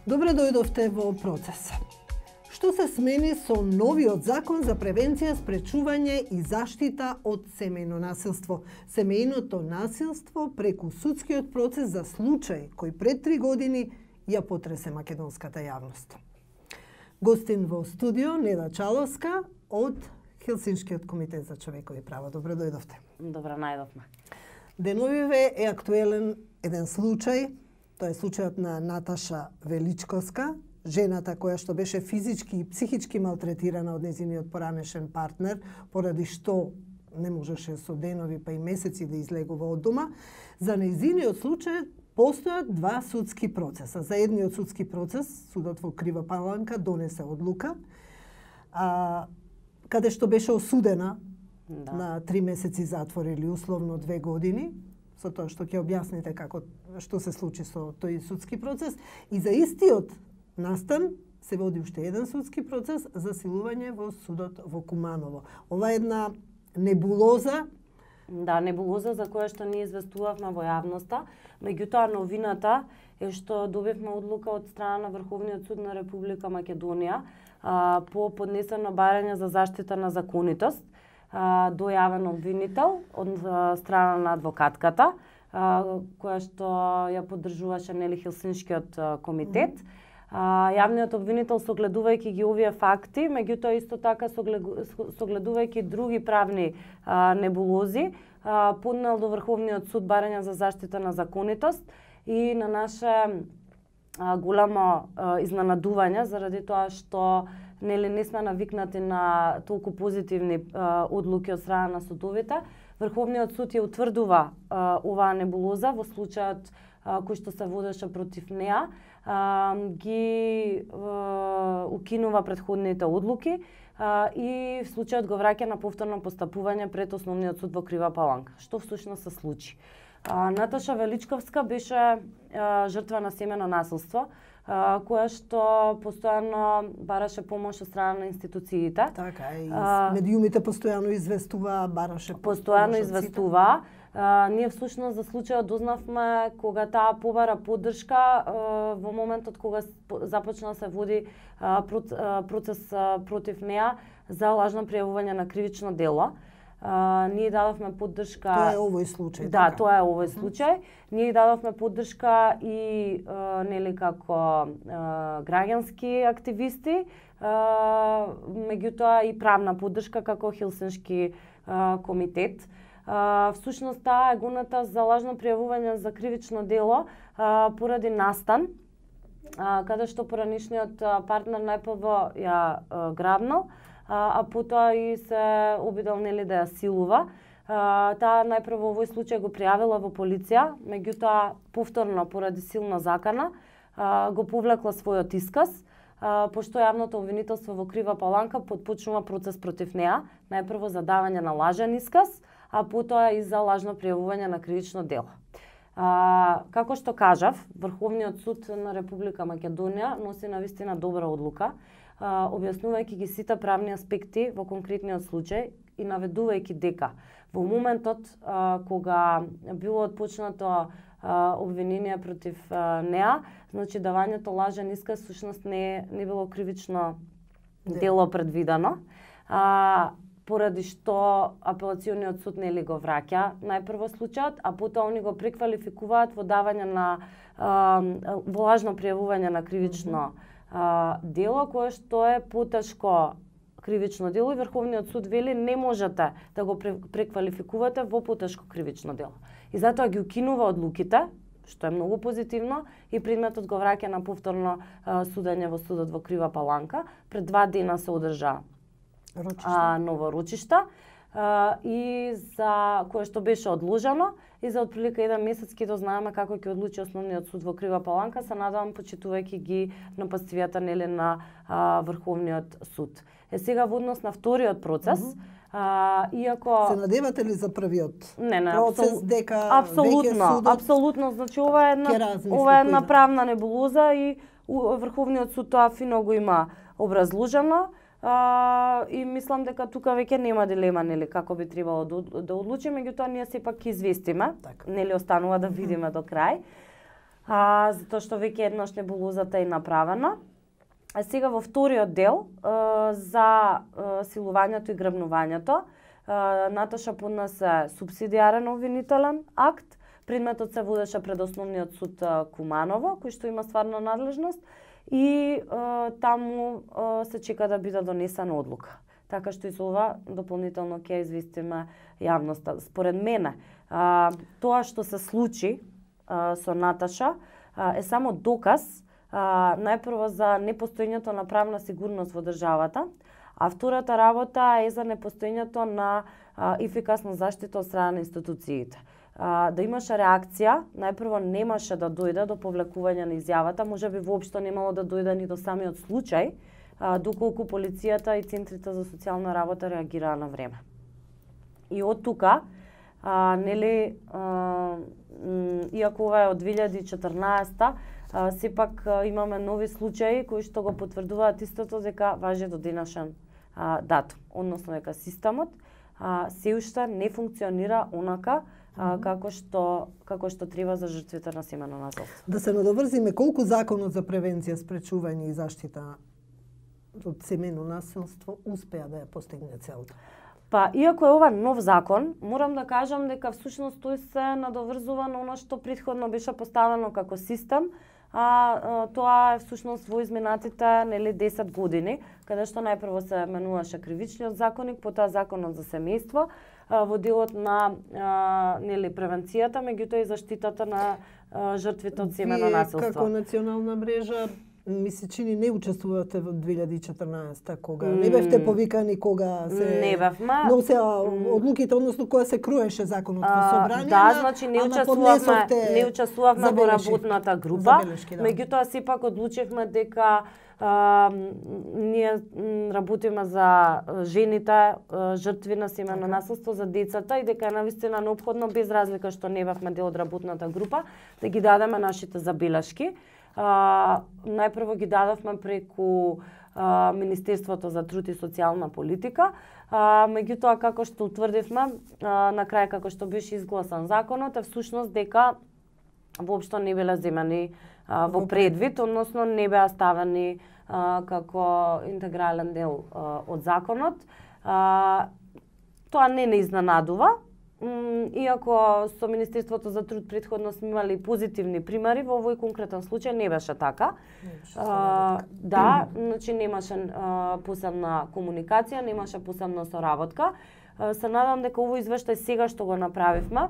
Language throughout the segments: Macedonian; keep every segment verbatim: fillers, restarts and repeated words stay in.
Добре дојдовте во Процес. Што се смени со новиот закон за превенција, спречување и заштита од семејно насилство? Семејното насилство преку судскиот процес за случај кој пред три години ја потресе македонската јавност. Гостин во студио Неда Чаловска од Хелсиншкиот комитет за човекови права. Добре дојдовте. Добре најдовме. Деновиве е актуелен еден случај. Тоа е случајот на Наташа Величковска, жената која што беше физички и психички малтретирана од нејзиниот поранешен партнер, поради што не можеше со денови па и месеци да излегува од дома. За нејзиниот случај постојат два судски процеса. За едниот судски процес, судот во Крива Паланка донесе одлука, а, каде што беше осудена да. на три месеци затвор или условно две години, со тоа што ќе објасните како што се случи со тој судски процес. И за истиот настан се води уште еден судски процес за силување во судот во Куманово. Ова е една небулоза. Да, небулоза за која што ние известувавме во јавноста. Меѓутоа, новината е што добивме одлука од страна на Врховниот суд на Република Македонија а, по поднесено барање за заштита на законитост, а, дојавен обвинител од а, страна на адвокатката, а, која што ја поддржуваше нели Хелсиншкиот а, комитет. Mm -hmm. А, јавниот обвинител, согледувајќи ги овие факти, меѓутоа исто така согледувајќи други правни а, небулози, а, поднел до Врховниот суд барање за заштита на законитост и на наше а, голямо а, изненадување заради тоа што нели не сме навикнати на толку позитивни а, одлуки од страна на судовите. Врховниот суд ја утврдува а, оваа небулоза во случајот а, кој што се водеше против неа, а, ги а, укинува претходните одлуки а, и случајот го враќа на повторно постапување пред Основниот суд во Крива Паланка. Што всушност се случи? А, Наташа Величковска беше а, жртва на семејно насилство, а, која што постојано бараше помош од страна на институциите. Така, и а, медиумите постојано известува, бараше постојано известува. Uh, ние всушност за случајот дознавме кога таа побара поддршка uh, во моментот кога започна да се води uh, процес uh, против неа за лажно пријавување на кривично дело. Uh, ние дадовме поддршка. Тоа е овој случај. Да, така? тоа е овој случај. Ние дадовме поддршка и uh, нели како uh, граѓански активисти, uh, меѓутоа и правна поддршка како Хелсиншки uh, комитет. Uh, всушност таа е гоната за лажно пријавување за кривично дело uh, поради настан, uh, каде што поранишниот uh, партнер најпрво ја uh, грабнал, uh, а потоа и се обидел нели да ја силува. Uh, таа најпрво овој случај го пријавила во полиција, меѓутоа повторно поради силна закана uh, го повлекла својот исказ, uh, пошто јавното обвинителство во Крива Паланка потпочнува процес против неа, најпрво за давање на лажен исказ, а потоа и за лажно пријавување на кривично дело. А, како што кажав, Врховниот суд на Република Македонија носи навистина добра одлука, а, објаснувајќи ги сите правни аспекти во конкретниот случај и наведувајќи дека во моментот а, кога било отпочнато а, обвинение против а, неа, значи давањето лажен исказ всушност не не било кривично дело предвидено. А, поради што апелациониот суд нели го враќа најпрво случајот, а потоа они го преквалификуваат во давање на а, во лажно пријавување на кривично а, дело, кое што е потешко кривично дело и Врховниот суд вели не можете да го преквалификувате во потешко кривично дело. И затоа ги укинува одлуките, што е многу позитивно, и предметот го враќа на повторно а, судење во судот во Крива Паланка. Пред два дена се одржа А, ново рочишта а, и за кое што беше одложено и за отприлика еден месец ќе дознаеме како ќе одлучи Основниот суд во Крива Паланка, се надевам почитувајќи ги нападствијата нели на а, Врховниот суд. Е сега во однос на вториот процес, mm -hmm. а, иако се надевате ли за првиот не, не, процес абсол... дека апсолутно, судот апсолутно, значи ова е една ова е една правна небулоза и Врховниот суд тоа фино го има образложено. Uh, и мислам дека тука веќе нема дилема нели како би требало да, да одлучиме, меѓутоа ние сепак ќе известиме, так. Нели останува да видиме до крај. а, затоа што веќе еднаш небулозата е направена. А сега во вториот дел а, за а, силувањето и грабнувањето, а, Наташа поднесе субсидиарен обвинителен акт. Предметот се водеше пред Основниот суд а, Куманово, кој што има стварна надлежност, и а, таму а, се чека да биде донесена одлука. Така што и за ова дополнително ќе известиме јавноста. Според мене, а, тоа што се случи а, со Наташа а, е само доказ а, најпрво за непостоењето на правна сигурност во државата, а втората работа е за непостоењето на а, ефикасна заштита од страна на институциите. А, да имаше реакција, најпрво немаше да дојде до повлекување на изјавата, можеби воопшто немало да дојде ни до самиот случај, а, доколку полицијата и центрите за социјална работа реагираа на време. И од тука, а, нели, а, иако ова е од две илјади и четрнаесета, а, сепак а, имаме нови случаи кои што го потврдуваат истото дека важи до денешен а, датум, односно дека системот а, се уште не функционира онака а, како што како што треба за жртвите на семено насилство. Да се надоврзиме, колку законот за превенција, спречување и заштита од семено насилство успеа да ја постигне целта? Па, иако е ова нов закон, морам да кажам дека всушност тој се надоврзува на оно што претходно беше поставено како систем, а, а тоа е всушност во изминатите нели десет години, каде што најпрво се менуваше кривичниот законник, потоа законот за семејство, а, во делот на а, нели превенцијата, меѓутоа и заштитата на а, жртвите од семено насилство. Вие како национална мрежа ми се чини не учествувате во две илјади и четрнаесета, кога mm. не бевте повикани, кога се не бевме. Но се одлуките, односно кога се круеше законот во собрание. Да, значи не учествувавме, не учествувавме во работната група. Да. Меѓутоа сепак одлучивме дека а, ние работиме за жените, жртви на семено насилство, за децата, и дека е навистина неопходно, без разлика што не бевме дел од работната група, да ги дадеме нашите забелешки. Uh, најпрво ги дадовме преку uh, Министерството за труд и социјална политика, uh, меѓутоа како што утврдивме, uh, на крај како што беше изгласан законот, е всушност дека воопшто не биле земани uh, во предвид, односно не беа ставени uh, како интегрален дел uh, од законот. Uh, тоа не не изненадува. Иако со Министерството за труд претходно сме имали позитивни примери, во овој конкретен случај не беше така. А, да, значи немаше а, посебна комуникација, немаше посебна соработка. А, се надам дека овој извештај сега што го направивме,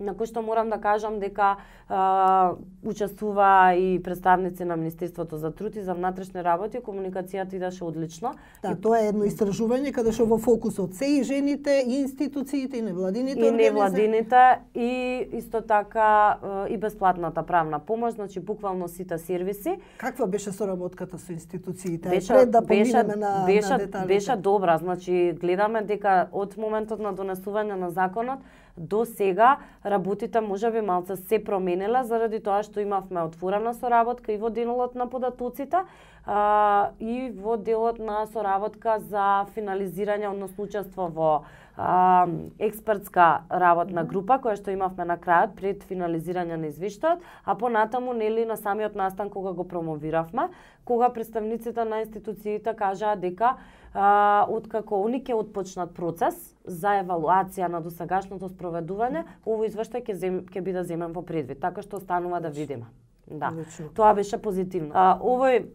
на кој што морам да кажам дека а, учествува и представници на Министерството за труд и за внатрешни работи, комуникацијата идеше одлично. Да, тоа е едно истражување каде што во фокусот се и жените, и институциите, и невладините и организации. И невладините, и исто така и бесплатната правна помош, значи буквално сите сервиси. Каква беше соработката со институциите? Беше, Пред да беше, поминеме на, беше, на деталите. Беше добра, значи гледаме дека од моментот на донесување на законот до сега работите можеби малце се променила заради тоа што имавме отворена соработка и во делот на податоците а, и во делот на соработка за финализирање, односно учество во а, експертска работна група која што имавме на крајот пред финализирање на извештајот, а понатаму нели на самиот настан кога го промовиравме, кога представниците на институциите кажаа дека а, откако они ќе отпочнат процес за евалуација на досегашното спроведување, овој извештај ќе зем, ќе биде земен во предвид, така што останува да видиме. Да. Лично. Тоа беше позитивно. А, овој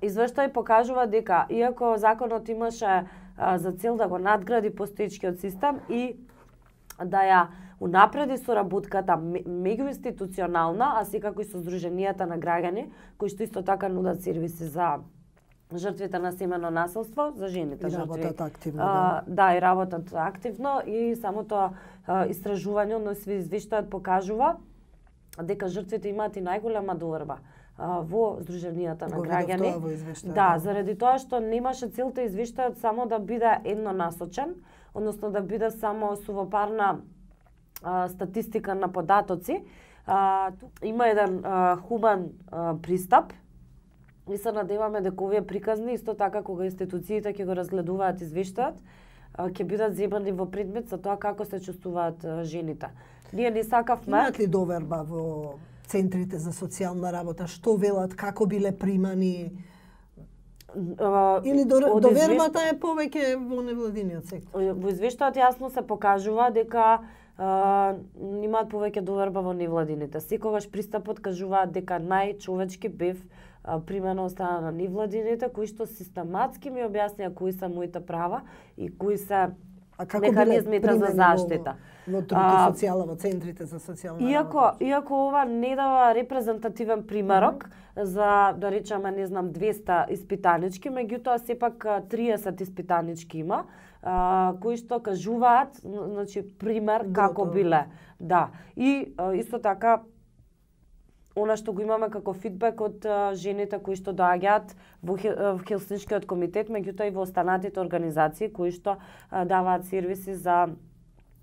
извештај покажува дека иако законот имаше а, за цел да го надгради постоечкиот систем и да ја унапреди соработката меѓуинституционална, а секако и со здруженијата на граѓани, кои што исто така нудат сервиси за жртвите на семено насилство, за жените и жртви. работат активно. А, да. да, и работат активно, и самото а, истражување, односно извештајот покажува дека жртвите имаат и најголема доверба а, во здруженијата на граѓани. Да, да, заради тоа што немаше целта извештајот само да биде еднонасочен, односно да биде само сувопарна а, статистика на податоци. А, има еден а, хуман а, пристап. И се надеваме дека овие приказни, исто така кога институциите ќе го разгледуваат извештајот, ќе бидат земани во предмет за тоа како се чувствуваат жените. Ние не сакавме... Имаат ли доверба во центрите за социјална работа, што велат, како биле примани? Uh, Или до, довербата е повеќе во невладиниот сектор? Во извештајот јасно се покажува дека uh, имаат повеќе доверба во невладините. Секогаш пристапот кажуваат дека најчовечки бев uh, примено од страна на невладините, кои што систематски ми објаснија кои се моите права и кои се механизмите за заштита. Во, во труд и социјала, во центрите за социјална иако, работа. Иако ова не дава репрезентативен примерок mm -hmm. за, да речеме, не знам, двеста испитанички, меѓутоа сепак триесет испитанички има, а, кои што кажуваат, значи, пример Гото. Како биле. Да. И а, исто така, она што го имаме како фидбек од а, жените кои што доаѓаат во, во Хелсиншкиот комитет, меѓутоа и во останатите организации кои што а, даваат сервиси за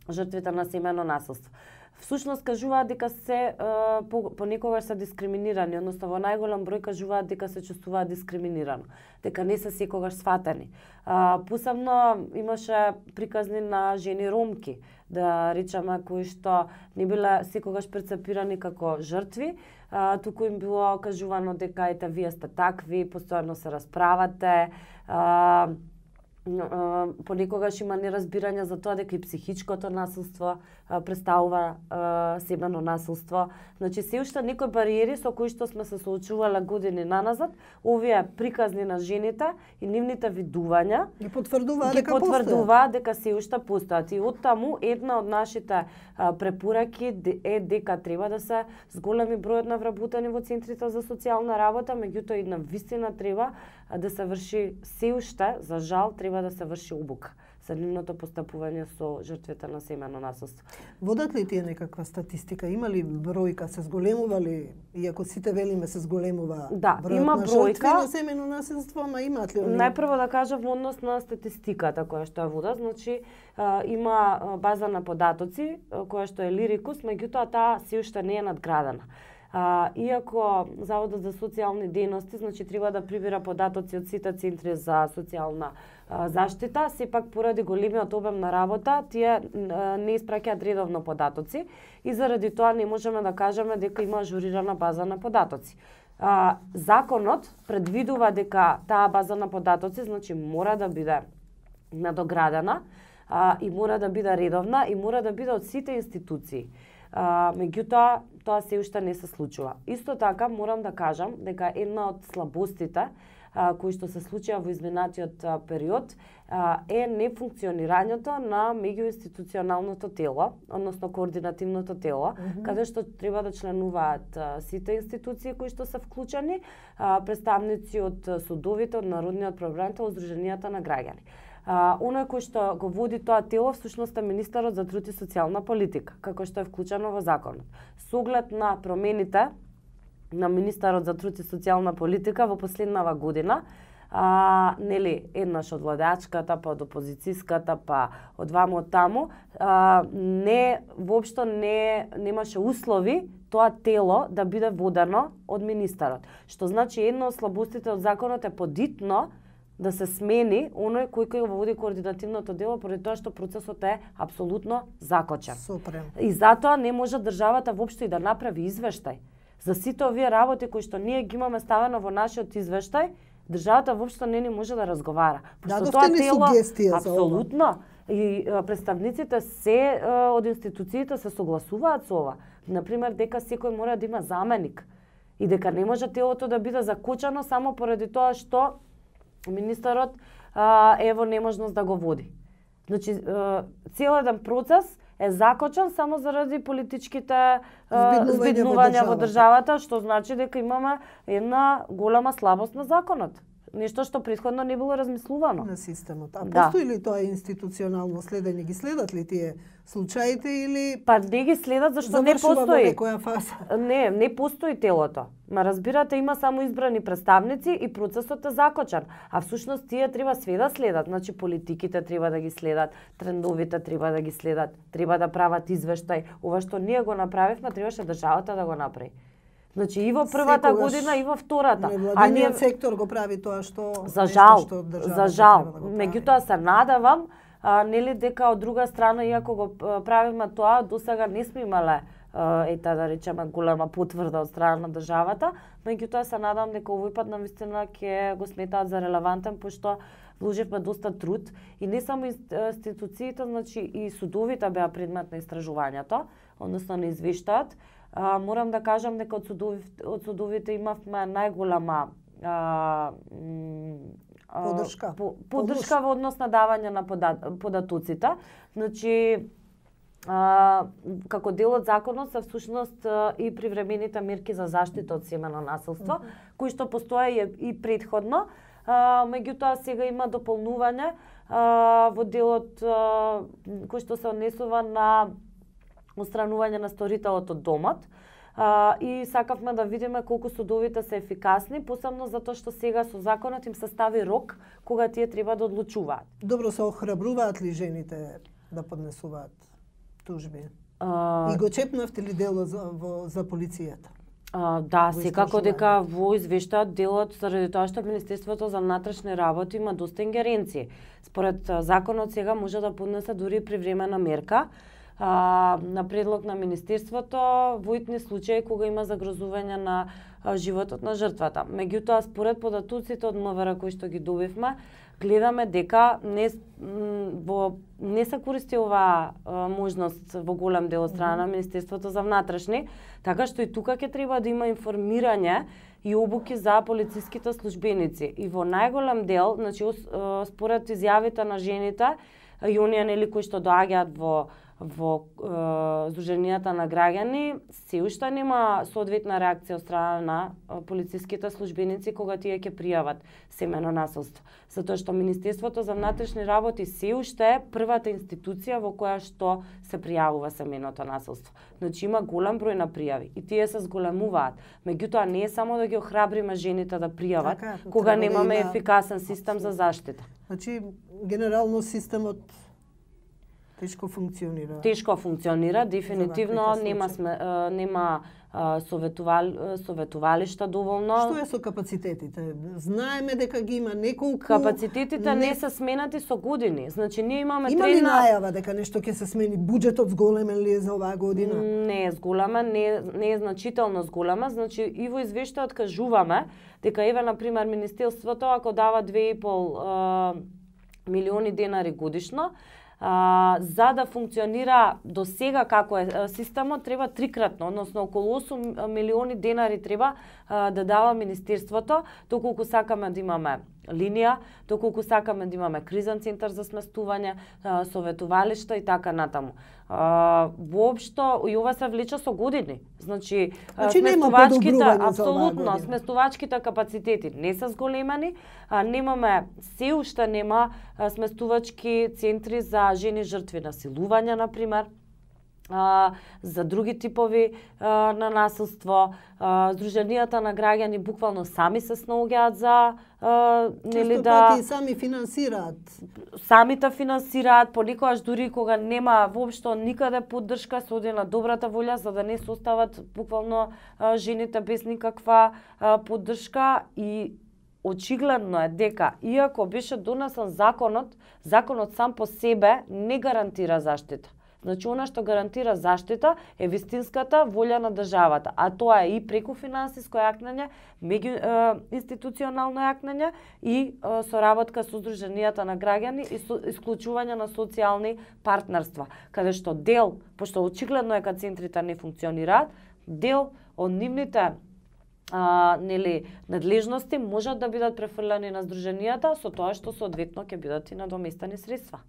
жртвите на семејно насилство. Всушност кажуваат дека се а, по, понекогаш се дискриминирани, односно во најголем број кажуваат дека се чувствуваат дискриминирано, дека не се секогаш сватени. А, посебно имаше приказни на жени ромки, да речеме, кои што не биле секогаш перцепирани како жртви, а, туку им било кажувано дека ете вие сте такви, постојано се расправате, а, понекогаш има неразбирање за тоа дека и психичкото насилство а, представува а, семено насилство. Значи, се уште некои бариери со кои што сме се соочувале години наназад, овие приказни на жените и нивните видувања ги потврдуваат ги дека потврдуваат дека се уште постојат. И оттаму една од нашите а, препораки е дека треба да се зголеми бројот на вработени во центрите за социјална работа, меѓутоа и на вистина треба а, да се врши се уште, за жал, треба да се врши обука за нивното постапување со жртвите на семејно насилство. Водат ли тие некаква статистика? Има ли бројка? Се зголемува ли? Иако сите велиме се зголемува да, бројот има на бројка, жртви на семејно насилство, ама имаат ли они? Најпрво да кажам во однос на статистиката која што ја водат, значи а, има база на податоци која што е Лирикус, меѓутоа таа се уште не е надградена. А, иако Заводот за социјални дејности, значи, треба да прибира податоци од сите центри за социјална а, заштита, сепак поради големиот обем на работа, тие а, не испраќаат редовно податоци и заради тоа не можеме да кажеме дека има ажурирана база на податоци. А, законот предвидува дека таа база на податоци, значи, мора да биде надоградена а, и мора да биде редовна и мора да биде од сите институции. А, меѓутоа, тоа се уште не се случува. Исто така, морам да кажам дека една од слабостите а, кои што се случија во изминатиот а, период а, е нефункционирањето на меѓуинституционалното тело, односно координативното тело, mm -hmm. каде што треба да членуваат а, сите институции кои што се вклучени, а, представници од судовите, од Народниот правобранител, Сдруженијата на граѓани. А, оној кој што го води тоа тело всушност е министерот за труд и социјална политика, како што е вклучено во законот. Со оглед на промените на министерот за труд и социјална политика во последнава година, а, нели, еднаш од владеачката, па од опозицијската, па од ваму од таму, а, не воопшто не немаше услови тоа тело да биде водено од министерот. Што значи една од слабостите од законот е подитно да се смени оној кој кој го води координативното дело, поради тоа што процесот е апсолутно закочен. Супрем. И затоа не може државата воопшто и да направи извештај. За сите овие работи кои што ние ги имаме ставено во нашиот извештај, државата воопшто не ни може да разговара. Пошто тоа тело апсолутно и представниците се од институциите се согласуваат со ова. Например, дека секој мора да има заменик и дека не може телото да биде закочено само поради тоа што министерот а, е во неможност да го води. Значи, цел еден процес е закочен само заради политичките збиднувања во државата, што значи дека имаме една голема слабост на законот. Нешто што претходно не било размислувано. На системот. А да. Постои ли тоа институционално следење? Ги следат ли тие случаите или па не ги следат зашто не постои некоја фаза? Не, не постои телото. Ма разбирате, има само избрани представници и процесот е закочен. А всушност тие треба све да следат. Значи политиките треба да ги следат, трендовите треба да ги следат, треба да прават извештај. Ова што ние го направивме, требаше државата да го направи. Значи и во првата секогаш година и во втората. А ние сектор го прави тоа што за жал, што за жал. Да меѓутоа се надевам а, нели дека од друга страна, иако го правиме тоа, досега не сме имале ета да речеме голема потврда од страна на државата, меѓутоа се надам дека овој пат навистина ќе го сметаат за релевантен, пошто вложивме доста труд и не само институциите, значи и судовите беа предмет на истражувањето, односно на извештаат. А, морам да кажам дека од судовите, од судовите имавме најголема а, подршка, по, подршка во однос на давање на податоците. Значи, а, како дел од законот се всушност и привремените мерки за заштита од семено насилство, mm -hmm. кои што постоја и предходно, а, меѓутоа сега има дополнување а, во делот а, кој што се однесува на отстранување на сторителот од домот. Uh, и сакавме да видиме колку судовите се ефикасни, посебно затоа што сега со законот им се стави рок кога тие треба да одлучуваат. Добро, се охрабруваат ли жените да поднесуваат тужби? Uh, и го чепнавте ли дело за, во, за полицијата? Uh, да, секако дека во извештаат делот заради тоа што Министерството за внатрешни работи има доста ингеренции. Според законот сега може да поднесе дури привремена мерка, А, на предлог на Министерството во итни случаи кога има загрозување на а, животот на жртвата. Меѓутоа, според податоците од МВР кои што ги добивме, гледаме дека не, во, не се користи оваа можност во голем дел од страна на Министерството за внатрешни, така што и тука ќе треба да има информирање и обуки за полициските службеници. И во најголем дел, значи, според изјавите на жените, и оние нели кои што доаѓаат во во е, Сдруженијата на граѓани, се уште нема соодветна реакција од страна на полициските службеници кога тие ќе пријават семено насилство. Затоа што Министерството за внатрешни работи се уште е првата институција во која што се пријавува семеното насилство. Значи има голем број на пријави и тие се зголемуваат. Меѓутоа не е само да ги охрабриме жените да пријават, така, кога немаме да има ефикасен систем за заштита. Значи генерално системот тешко функционира. Тешко функционира, дефинитивно нема сме, нема советувал, советувалишта доволно. Што е со капацитетите? Знаеме дека ги има неколку. Капацитетите не, не се сменати со години. Значи ние имаме има трена... ли најава дека нешто ќе се смени? Буџетот зголемен ли е за оваа година? Не е зголемен, не, не е значително зголемен. Значи и во извештајот кажуваме дека еве на пример Министерството ако дава две и пол милиони денари годишно, А, за да функционира до сега како е системот, треба трикратно, односно околу осум милиони денари треба а, да дава Министерството, доколку сакаме да имаме линија, доколку сакаме да имаме кризен центар за сместување, а, советувалишта и така натаму. А, воопшто и ова се влече со години. Значи, значи сместувачките, апсолутно, сместувачките капацитети не се зголемени, а, немаме, се уште нема а, сместувачки центри за жени жртви насилување, например, а, за други типови а, на насилство. А, Сдруженијата на граѓани буквално сами се снаоѓаат за а, нели да пати сами финансираат. Самите финансираат, понекогаш дури кога нема воопшто никаде поддршка, се оди на добрата волја за да не се остават буквално а, жените без никаква а, поддршка. И очигледно е дека иако беше донесен законот, законот сам по себе не гарантира заштита. Значи, она што гарантира заштита е вистинската волја на државата, а тоа е и преку финансиско јакнење, меѓу е, институционално јакнење и е, соработка со Сдруженијата на граѓани и со, исклучување на социјални партнерства, каде што дел, пошто очигледно е кога центрите не функционираат, дел од нивните а, нели надлежности можат да бидат префрлени на Сдруженијата со тоа што соодветно ќе бидат и надоместени средства.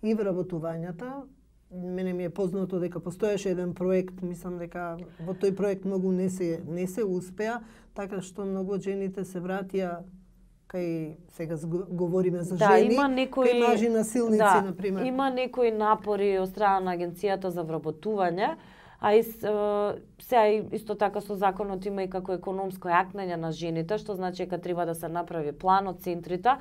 И вработувањата, мене ми е познато дека постоеше еден проект, мислам дека во тој проект многу не се не се успеа, така што многу од жените се вратија кај сега говориме за да, жени, има некои, кај мажи насилници, да, например. Има некои напори од страна на Агенцијата за вработување, а и сега исто така со законот има и како економско јакнење на жените, што значи дека треба да се направи план од центрите,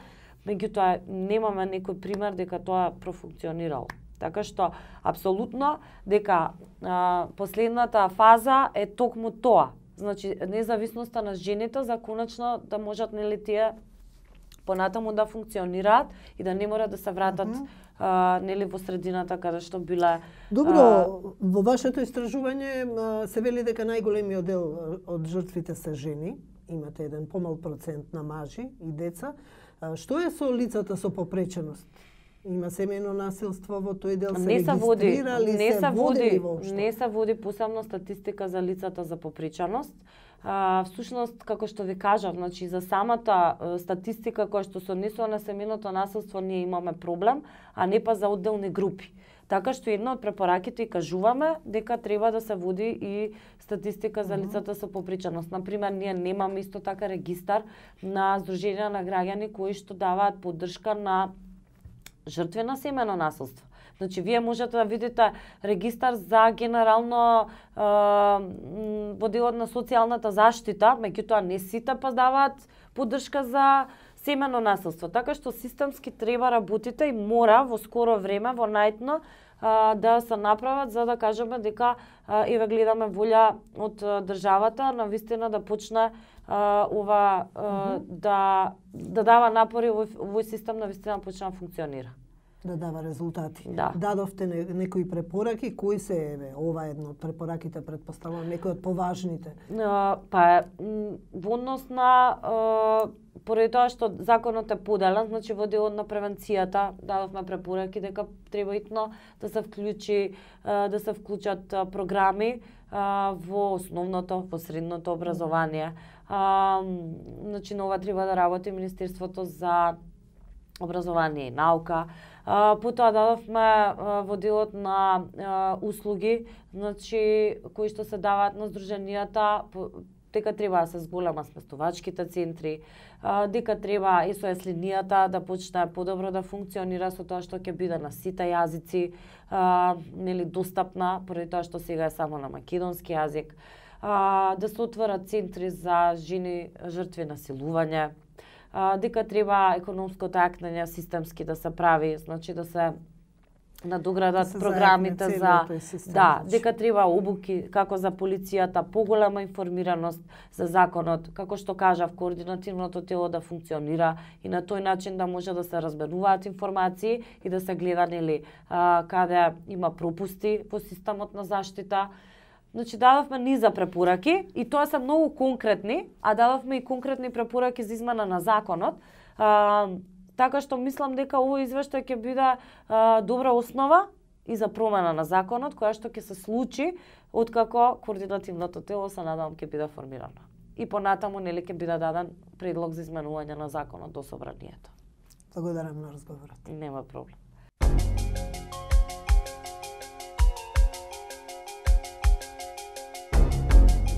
меѓутоа немаме некој пример дека тоа профункционирало. Така што, апсолутно, дека а, последната фаза е токму тоа. Значи, независноста на жените за конечно да можат нели тие понатаму да функционираат и да не мора да се вратат mm -hmm. а, нели во средината каде што биле. Добро, а... во вашето истражување се вели дека најголемиот дел од жртвите се жени, имате еден помал процент на мажи и деца. Што е со лицата со попреченост? Има семејно насилство во тој дел, се не се води, не се води, воопшто? Не се води посебно статистика за лицата за попреченост. А, всушност, како што ви кажав, значи за самата статистика која што се однесува на семејното насилство ние имаме проблем, а не па за одделни групи. Така што една од препораките и кажуваме дека треба да се води и статистика за лицата со попреченост. Например, ние немаме исто така регистар на Сдруженија на граѓани кои што даваат поддршка на жртви на семејно насилство. Значи, вие можете да видите регистар за генерално е, во делот на социјалната заштита, меѓутоа не сите па даваат поддршка за семејно насилство. Така што системски треба работите и мора во скоро време, во најдно, да се направат за да кажеме дека еве гледаме волја од државата на вистина да почне ова mm -hmm. да да дава напори овој систем на вистина почне да функционира. Да дава резултати. Да. Дадовте не, некои препораки, кои се еве ова е една од препораките, претпоставувам некои од поважните. Uh, па во однос на uh, поради тоа што законот е поделен, значи во делот на превенцијата дадовме препораки дека треба итно да се вклучи uh, да се вклучат uh, програми uh, во основното, во средното образование. Uh, значи на ова треба да работи Министерството за образование и наука. Uh, потоа дадовме uh, во делот на uh, услуги, значи кои што се даваат на здруженијата, дека треба да се зголема сместувачките центри, uh, дека треба ес о ес линијата да почне подобро да функционира со тоа што ќе биде на сите јазици, uh, нели достапна, поради тоа што сега е само на македонски јазик, uh, да се отворат центри за жени жртви на силување, Uh, дека треба економското акнење системски да се прави, значи да се надоградат да програмите за систем, да, дека треба обуки како за полицијата, поголема информираност за законот, како што кажав, координативното тело да функционира и на тој начин да може да се разменуваат информации и да се гледа нели uh, каде има пропусти во системот на заштита. Значи, дадовме низа препораки и тоа се многу конкретни, а дадовме и конкретни препораки за измена на законот. А, така што мислам дека овој извештај ќе биде а, добра основа и за промена на законот, која што ќе се случи откако координативното тело се надевам ќе биде формирано. И понатаму нели ќе биде даден предлог за изменување на законот до собранието. Благодарам на разговорот. Нема проблем.